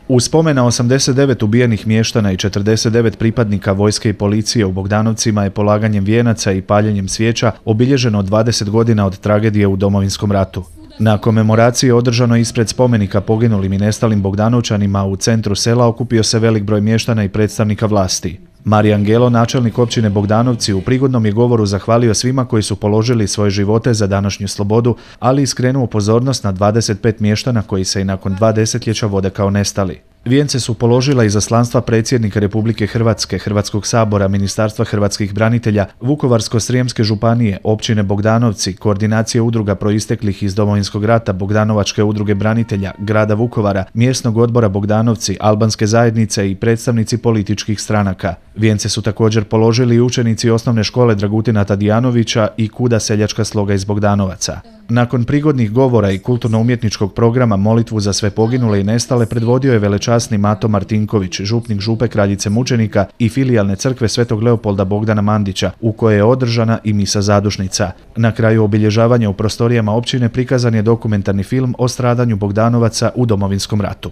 U spomen na 89 ubijenih mještana i 49 pripadnika vojske i policije u Bogdanovcima je polaganjem vijenaca i paljenjem svijeća obilježeno 20 godina od tragedije u Domovinskom ratu. Na komemoraciji održano ispred spomenika poginulim i nestalim Bogdanovčanima u centru sela okupio se velik broj mještana i predstavnika vlasti. Marijan Gelo, načelnik općine Bogdanovci, u prigodnom je govoru zahvalio svima koji su položili svoje živote za današnju slobodu, ali i skrenuo pozornost na 25 mještana koji se i nakon 2 desetljeća vode kao nestali. Vijence su položila izaslanstva predsjednika Republike Hrvatske, Hrvatskog sabora, Ministarstva hrvatskih branitelja, Vukovarsko-srijemske županije, općine Bogdanovci, koordinacije udruga proisteklih iz Domovinskog rata, Bogdanovačke udruge branitelja, grada Vukovara, mjesnog odbora Bogdanovci, albanske zajednice i predstavnici političkih stranaka. Vijence su također položili i učenici osnovne škole Dragutina Tadijanovića i Kuda seljačka sloga iz Bogdanovaca. Nakon prigodnih govora i kulturno-umjetničkog programa molitvu za sve poginule i nestale predvodio je velečasni Mato Martinković, župnik Župe Kraljice mučenika i filijalne crkve Svetog Leopolda Bogdana Mandića, u kojoj je održana i misa zadušnica. Na kraju obilježavanja u prostorijama općine prikazan je dokumentarni film o stradanju Bogdanovaca u Domovinskom ratu.